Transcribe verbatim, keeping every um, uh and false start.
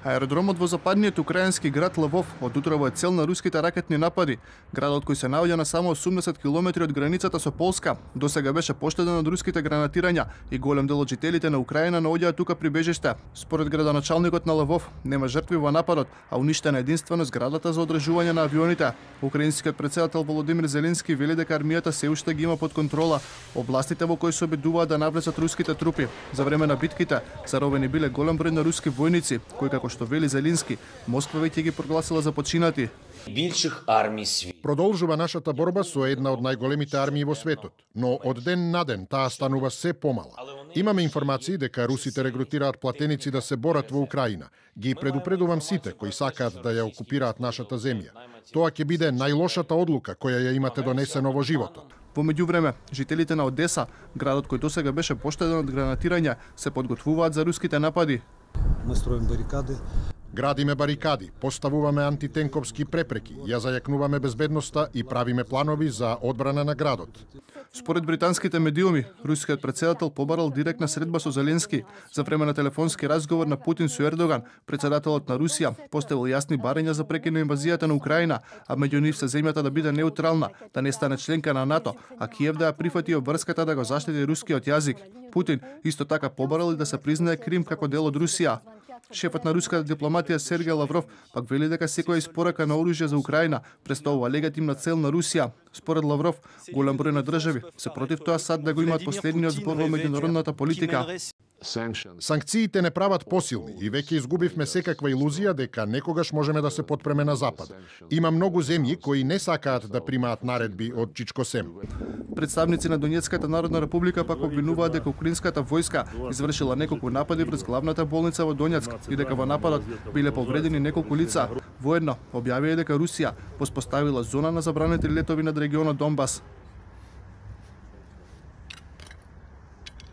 Аеродромот во западниот украински град Лвов од утрово е цел на руските ракетни напади. Градот кој се наоѓа на само осумдесет километри од границата со Полска, досега беше поштеден од руските гранатирања и голем дел од жителите на Украина наоѓаат тука прибежиште. Според градоначалникот на Лвов, нема жртви во нападот, а уништена единствено зградата за одржување на авионите. Украинскиот претседател Володимир Зеленски вели дека армијата се уште ги има под контрола областите во кои се обидуваат да навлезат руските трупи. За време на битките заробени биле голем број на руски војници, кои како што вели Зеленски, Москва веќе ги прогласила за починати. Бивших армии света. Продолжува нашата борба со една од најголемите армии во светот, но од ден на ден таа станува се помала. Имаме информации дека русите регрутираат платеници да се борат во Украина. Ги предупредувам сите кои сакаат да ја окупираат нашата земја. Тоа ќе биде најлошата одлука која ја имате донесено во животот. Во меѓувреме, жителите на Одеса, градот кој досега беше поштеден од гранатирања, се подготвуваат за руските напади. Мы строим барикады. Градиме барикади, поставуваме антитенковски препреки, ја зајакнуваме безбедноста и правиме планови за одбрана на градот. Според британските медиуми, рускиот претседател побарал директна средба со Зеленски. За време на телефонски разговор на Путин со Ердоган, претседателот на Русија поставил јасни барања за прекин на инвазијата на Украина, а меѓу нив се земјата да биде неутрална, да не стане членка на НАТО, а Киев да ја прифати обврската да го заштити рускиот јазик. Путин исто така побарал и да се признае Крим како дел од Русија. Шефот на руската дипломатија Сергеј Лавров пак вели дека секоја испорака на оружје за Украина представува легитимна цел на Русија. Според Лавров, голем број на држави се против тоа САД да го имаат последниот збор во меѓународната политика. Санкциите не прават посилни и веќе изгубивме секаква илузија дека некогаш можеме да се потпреме на Запад. Има многу земји кои не сакаат да примаат наредби од Чичко Сем. Представници на Донецката народна република пак обвинуваат дека украинската војска извршила неколку напади врз главната болница во Донецк и дека во нападот биле повредени неколку лица. Воедно објавија дека Русија воспоставила зона на забранети летови над регионот Донбас.